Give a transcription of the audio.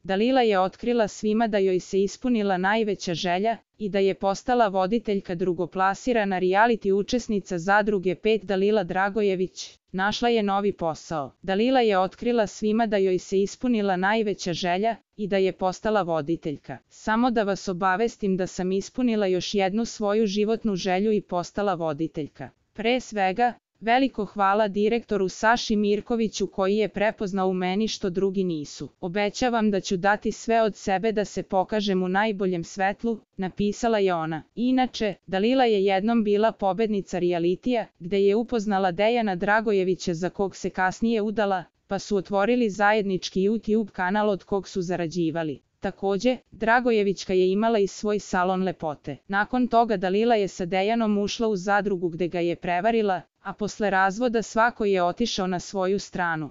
Dalila je otkrila svima da joj se ispunila najveća želja i da je postala voditeljka drugoplasirana reality učesnica Zadruge 5 Dalila Dragojević. Našla je novi posao. Dalila je otkrila svima da joj se ispunila najveća želja i da je postala voditeljka. Samo da vas obavestim da sam ispunila još jednu svoju životnu želju i postala voditeljka. Pre svega, veliko hvala direktoru Saši Mirkoviću koji je prepoznao u meni što drugi nisu. Obećavam da ću dati sve od sebe da se pokažem u najboljem svetlu, napisala je ona. Inače, Dalila je jednom bila pobednica realitija, gde je upoznala Dejana Dragojevića za kog se kasnije udala, pa su otvorili zajednički YouTube kanal od kog su zarađivali. Takođe, Dragojevićka je imala i svoj salon lepote. Nakon toga Dalila je sa Dejanom ušla u zadrugu gde ga je prevarila, a posle razvoda svako je otišao na svoju stranu.